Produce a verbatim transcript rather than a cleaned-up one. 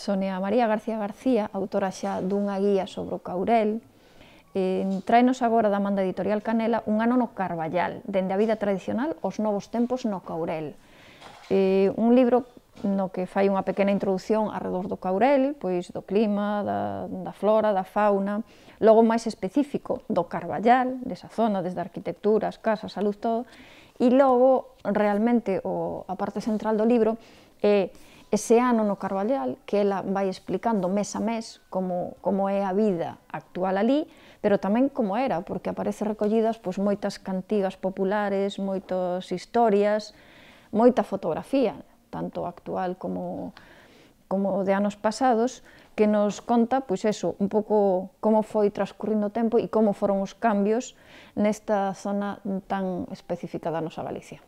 Sonia María García García, autora xa dunha guía sobre o Caurel, eh, traenos agora da manda editorial Canela un ano no Carballal, dende a vida tradicional aos novos tempos no Caurel. Eh, un libro no que fai unha pequena introducción arredor do Caurel, pois do clima, da, da flora, da fauna, logo máis específico do Carballal, desa zona, desde a arquitectura, as casas, a luz, todo, e logo, realmente, o, a parte central do libro é ese ano no Carballal, que ela vai explicando mes a mes como, como é a vida actual ali, pero tamén como era, porque aparece recollidas pois, moitas cantigas populares, moitas historias, moita fotografía, tanto actual como, como de anos pasados, que nos conta, pois eso, un pouco como foi transcurrindo o tempo e como foron os cambios nesta zona tan específica da nosa Galicia.